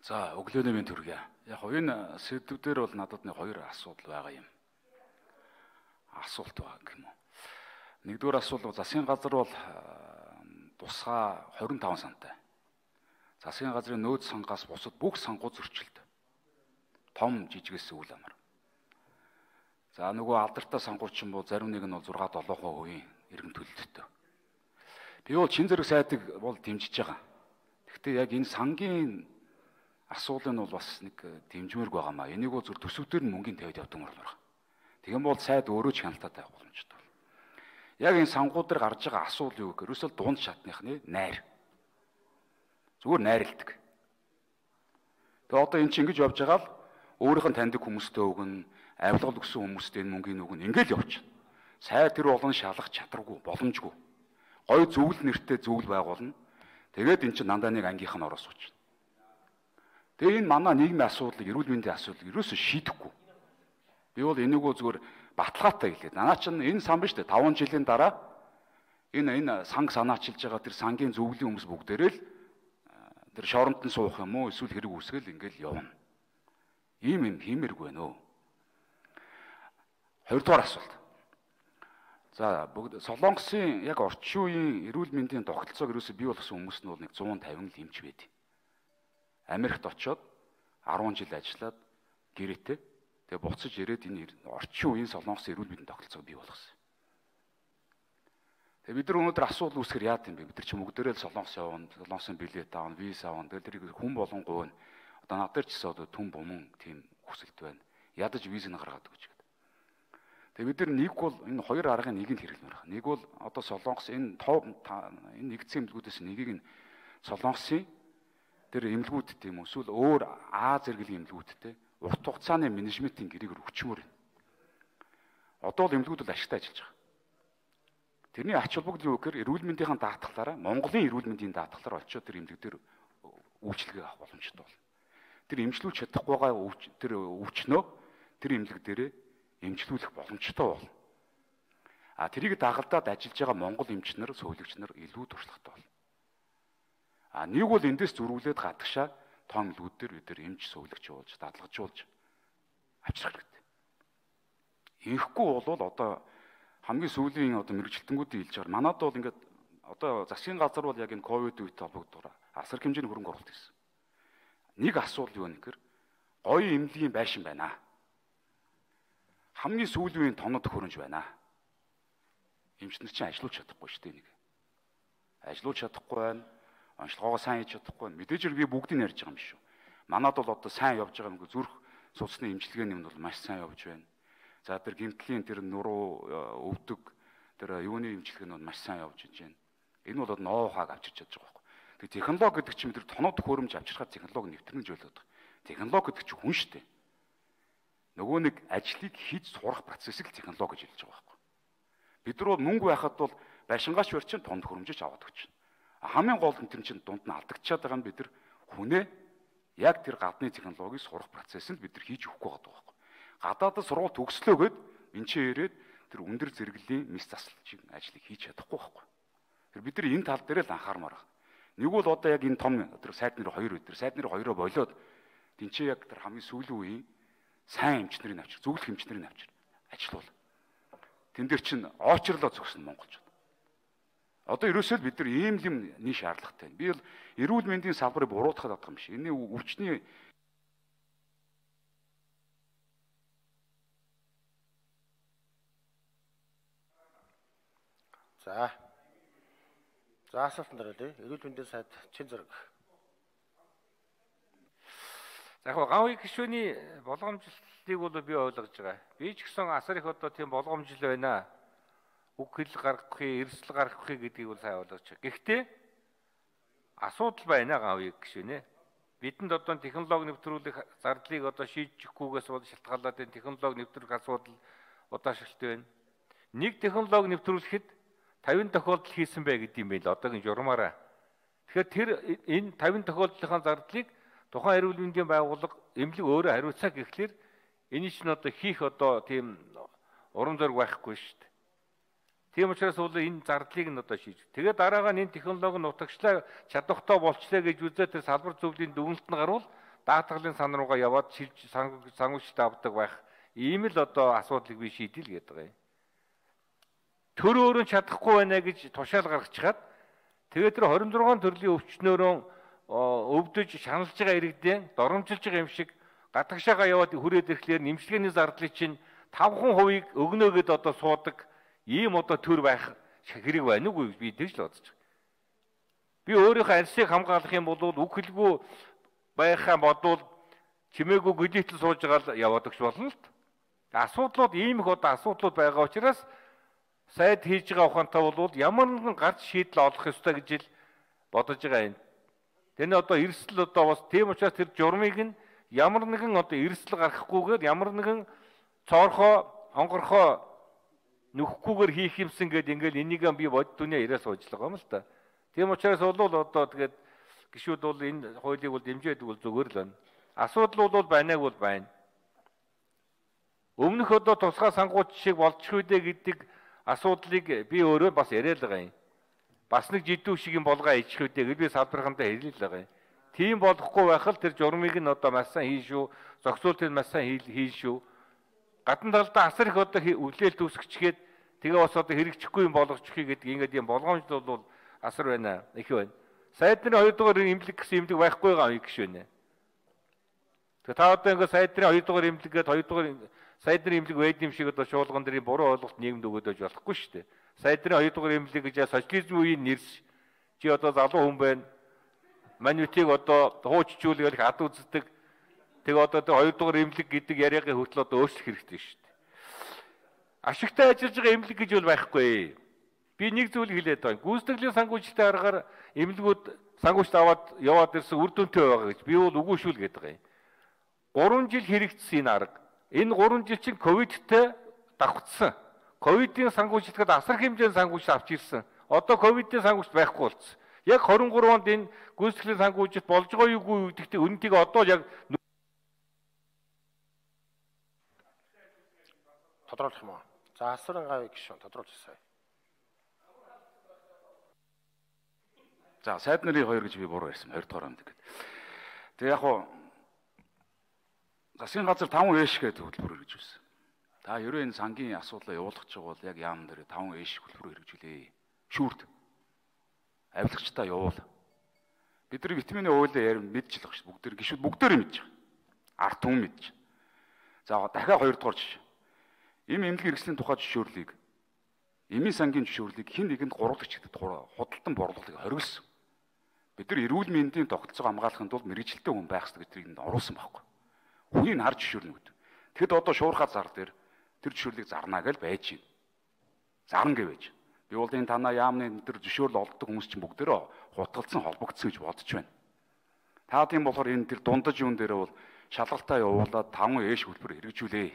За өглөөний мэнд хүргэе. Яг энэ сэдвүүдээр бол надад нэг хоёр асуудал байгаа юм. Асуулт байгаа юм уу? Нэгдүгээр асуудал засгийн газар бол тусгай 25 сантай. Засгийн газрын нөөц сангаас бусад бүх сангууд зөрчилд. Том жижигээс үл амар. За нөгөө алдартай сангууд ч юм бол зарим нэг нь бол 6-7% иргэн төлөлттэй. Би бол чин зэрэг сайдыг бол дэмжиж байгаа. Гэхдээ яг энэ сангийн асуудал нь бол бас нэг дэмжмээрг байгаамаа. Энийг бол зөв төсөвдөр нь мөнгөний тавьд явдаг юм байна. Тэгэн бол сайд өөрөө ч хяналттай байх боломжтой. Яг энэ сангууд дээр гарч байгаа асуудал юу гэхээр ерөөсөө дунд шатныхны найр. Зүгээр найрладаг. Тэгээ одоо эн чинь ингэж явж байгаа л өөрийнх нь таньдаг хүмүүстэй өгнө, авилгал өгсөн хүмүүстэй энэ мөнгөний өгнө. Ингээл явчихна. Сайд тэр болон шалгах чадваргүй, боломжгүй. Гой зөвл нэртэй зөвл байгуулна. Тэгээд эн чинь дандаа нэг ангийнх нь ороос уучна. Тэгээ энэ манай нийгмийн асуудлыг, эрүүл мэндийн асуудлыг ерөөсөө шийдэхгүй. Би бол энийг зүгээр баталгаатай хэлээд. Наа чинь энэ сан биш үү? 5 жилийн дараа энэ санг санаачилж байгаа тэр сангийн зөвлөлийн хүмүүс бүгдээрээ л тэр шоронд нь суух юм уу? Эсвэл хэрэг үүсгэл ингээл явна. Ийм юм хиймэргүй нөө. Хоёрдугаар асуулт. За бүгд Солонгосын яг орчин үеийн эрүүл мэндийн тогтолцоог ерөөсөө бий болгосон хүмүүс нь бол нэг 150 л эмч байдаг. Америкт очоод 10 жил ажиллаад гэрээтэй тэгээ буцаж ирээд энэ орчин үеийн Солонгос эрүүл мэндийн тогтолцоог бий болгосон. Тэгээ бид нар өнөөдөр асуудал үүсгэр яад юм бэ? Бид нар ч мөгдөрөө Солонгос явна, Солонгосын билет аавна, виза аавна. Тэгээ тэрийг хүн болгон гуйна. Одоо над дээр ч гэсэн одоо түн буман тийм хүсэлт байна. Ядаж визийг гаргаад өгч гэдэг. Тэгээ бид нар нэг бол энэ хоёр аргын нэгийг хэрэглэмээр байна. Нэг бол одоо Солонгос энэ нэгдсэн эмнэлгүүдээс нэгийг нь Солонгосын тэр эмнэлгүүд тийм эсвэл өөр А зэрэглэлийн эмнэлгүүдтэй урт хугацааны менежментийн гэрээгээр өчмөр. Одоо л эмнэлгүүд бол ашигтай ажиллаж байгаа. Тэрний ач холбогдол юу гэхээр эрүүл мэндийн даатгалаараа Монголын эрүүл мэндийн даатгалаар очиод тэр эмнэлэг дээр үйлчлэгээ авах боломжтой болно. Тэр эмчлүүлж чадахгүй байгаа тэр өвчнөө тэр эмнэлэг дээрээ эмчлүүлэх боломжтой болно. А тэрийг дагалдаад ажиллаж байгаа монгол эмч нар, сувилагч нар илүү туршлагатай болно. А нэг бол эндээс зөрүүлээд гадагшаа том эмнэлгүүд дээр бид нар эмч сувилагч болж, дадлагжуулж авчрах хэрэгтэй. Инхгүй бол одоо хамгийн сүүлийн одоо мэрэгчлэлтэнгүүдийн хэлж байгаа. Манайд бол ингээд одоо засгийн газар бол яг энэ ковид үетэй холбогддог асар хэмжээний хөрөнгө оруулалт хийсэн. Нэг асуудал юу нөхөр гоё эмнэлгийн байшин байна. Хамгийн сүүлийн тонод хөрөнж байна. Эмчнэр чинь ажиллаж чадахгүй шүү дээ нэг. Ажиллаж чадахгүй байна. Онцлогоогоо сайн хийж чадахгүй байна. Мэдээж би бүгдийг ярьж байгаа юм биш үү. Манайд бол одоо сайн явж байгаа юм. Зүрх судасны эмчилгээний юм бол маш сайн явж байна. За тэр гэмтлийн тэр нуруу өвдөг тэр юуны эмчилгээ нь маш сайн явж байна. Энэ бол ноу-хаг авчирч чадж байгаа байхгүй. Тэг технологи гэдэг чинь тэр тоноод хөрөмж авчирхаар технологи нэвтрэнж байлаад байгаа. Технологи гэдэг чинь хүн шүү дээ. Нөгөө нэг ажлыг хийж сурах процессыг технологи гэж хэлж байгаа байхгүй. Бид нар бол мөнгө байхад бол байшингаач барьчин тонд хөрөмжөж аваад өгч байна. Хамгийн гол нь тэр чинь дунд нь алдагчаад байгаа нь бид нар хүнээ яг тэр гадны технологиг сурах процессыг бид нар хийж өгөхгүй байгаа байхгүй. Гадаадд сургууль төгслөөгээд энэ чинь ирээд тэр өндөр зэрэглэлийн мис засалчийн ажлыг хийж чадахгүй байхгүй. Тэр бид нар энэ тал дээр л анхаармаар байна. Нэг бол одоо яг энэ том тэр сайд нэр хоёр өдөр сайд нэр хоёроо болоод тэнцээ яг тэр хамгийн сүүлийн үеийн сайн эмчнэрийн авчир, зөвлөх эмчнэрийн авчир ажиллавал. Тэн дээр чинь очрлоо зөксөн монголчууд. Одоо ерөөсөө бид нар ийм юм нэг шаардлагатай. Би бол эрүүл мэндийн салбарыг буруутгах гэдэг юм биш. Энэ өвчний За асуултанд оръё. Эрүүл мэндийн сайд чин зэрэг. За яг гавь гишүүний болгоомжлолыг бол би ойлгож байгаа. Би ч гэсэн асар их одоо тийм болгоомжлол байна. Үг хэл гаргахгүй, эрсдэл гаргахгүй гэдгийг бол сайн ойлгож байгаа. Гэхдээ асуудал байна гавь гишүүнэ. Бидэнд одоо технологи нэвтрүүлэх зардлыг одоо шийдэхгүйгээс бол шалтгаалаад энэ технологи нэвтрүүлэх асуудал удаашралтай байна. Нэг технологи нэвтрүүлэхэд 50 тохиолдол хийсэн бай гэдэг юм байна л одоогийн журмаараа. Тэгэхээр тэр энэ 50 тохиолдлын зардлыг тухайн эрүүл мэндийн байгууллага эмнэлэг өөрөө хариуцаа гэхлээр энэ чинь одоо хийх одоо тийм урам зориг байхгүй шүү дээ. Тийм учраас бол энэ зардлыг нь одоо шийдэж. Тэгээд дараагаар энэ технологи нь утагчлаа чадвартай болчлаа гэж үзээ тэр салбар зөвлөлийн дүгнэлт нь гарвал даатгалын сан руугаа яваад шилж сангуучд авдаг байх ийм л одоо асуудлыг би шийдэл гээд байгаа юм. Төр өөрөө чадахгүй байна гэж тушаал гаргачихад тэгээд тэр 26 төрлийн өвчнөөрөө өвдөж шаналж байгаа иргэдэн доромжилж байгаа юм шиг гадагшаага яваад хүрээд ирэхлээр нэмжлэгээний зардлыг чинь 5% өгнө гэд одоо суудаг ийм одоо төр байх хэрэг байна уу би тэгж л бодож байгаа. Би өөрийнхөө арьсыг хамгаалах юм бол үг хэлгүй байхаа бодвол чимээгүй гүдийтэл сууж байгаа л яваад өгч болно л. Асуудлууд ийм их одоо асуудлууд байгаа учраас сайд хийж байгаа ухаантай бол ямар нэгэн гарч шийдэл олох ёстой гэж л бодож байгаа юм. Тэний одоо эрсдэл одоо бас тийм учраас тэр журмыг нь ямар нэгэн одоо эрсдэл гаргахгүйгээр ямар нэгэн цоорхоо онгорхоо нөхөхгүйгээр хийх юмсан гэдэг ингээл энийг би бод дүнээ ирээ сууж байгаа юм л та. Тийм учраас бол одоо тэгээд гişүүд бол энэ хуулийг бол дэмжиж байдаг бол зүгээр л байна. Асуудал бол байнаг бол байна. Өмнөх одоо тусгай сангууч шиг болчих үедээ гэдэг асуудлыг би өөрөө бас яриад байгаа юм. Бас нэг жидүү шиг юм болгоо ичх үедээ гэж би салбархандаа хэлээ л байгаа юм. Тийм болохгүй байхад тэр журмыг нь одоо маш сайн хийн шүү. Зохицуултыг маш сайн хийн шүү. Гадна талдаа асар их одоо үлээл түүсгчгээд тэгээ бас одоо хэрэгжихгүй юм болгочихъя гэдэг ингээд юм болгоомжтой бол асар байна. Их байна. Сайд нарын 2 дугаар имлэг гэсэн имлэг байхгүй байгаа юм гэж байна. Тэгээ та одоо ингээд сайд нарын 2 дугаар имлэгээд 2 дугаар сайд нарын имлэг байд юм шиг одоо шуулган дэрийн буруу ойлголт нийгэмд өгөөд байж болохгүй шүү дээ. Сайд нарын 2 дугаар имлэг гэж социализм үеийн нэрс чи одоо залуу хүн байна. Манютыг одоо хуучжуулах ад үздэг. Тэгээ одоо 2 дугаар имлэг гэдэг яриагийн хөтөл одоо өөрчлөх хэрэгтэй шүү дээ. Ашигтай ажиллаж байгаа имлэг гэж бол байхгүй. Би нэг зүйлийг хэлээд байна. Гүйцэтгэлийн санхүүжилтийн аргаар имлэгүүд санхүүжилт аваад яваад ирсэн үр дүнтэй байгаа гэж би бол үгүй шүү л гэдэг байгаа юм. 3 жил хэрэгжсэн энэ арга. Энэ 3 жил чинь ковидтэй давхцсан. Ковидын санхүүжилтэд асар хэмжээний санхүүжилт авч ирсэн. Одоо ковидын санхүүжилт байхгүй болсон. Яг 23 онд энэ гүйцэтгэлийн санхүүжилт болж байгаа юу гэдэгт үнэнтэйг одоо яг тодруулах юм уу? За асуурын гавь гişүн тодруулчихсан. За сайд нарын 2 гэж би буруу ярьсан 2 дугаар амд гэдэг. Тэгээ яг хуу засгийн газар 5 ээш гэдэг хөтөлбөр хэрэгжүүлсэн. Та ерөө энэ сангийн асуудлаа явуулах гэж бол яг яам дээр 5 ээш хөтөлбөр хэрэгжүүлээ. Шүүрт. Авилагчтай явуул. Бидний витамины уулаа мэдчихлээ шүү. Бүгд гişүүд бүгдээр мэдж байгаа. Арт түмэн мэдж. За дахиад 2 дугаар жишээ. Им эмнэлгийн хэрэгслийн тухай зөвшөөрлийг эмийн сангийн зөвшөөрлийг хэн нэгэнд гурвлагч гэдэг худалдан борлуулалтыг хориглосон. Бид нар эрүүл мэндийн тогтолцоог хамгаалахын тулд мэрэгжилтэй хүн байх ёстой гэдгийг оруулсан байхгүй. Хүнийг харж зөвшөөрнө гэдэг. Тэгэд одоо шуурхаа зар дээр тэр зөвшөөрлийг зарнаа гэж байж байна. Зарна гэвэж. Би бол энэ танаа яамны тэр зөвшөөрөл олддог хүмүүс чинь бүгдээрээ хутгалцсан холбогдсон гэж бодож байна. Та тийм болохоор энэ тэр дундаж юун дээр бол шалгалтаа явуулаад 5 ээш хөтөлбөр хэрэгжүүлээ.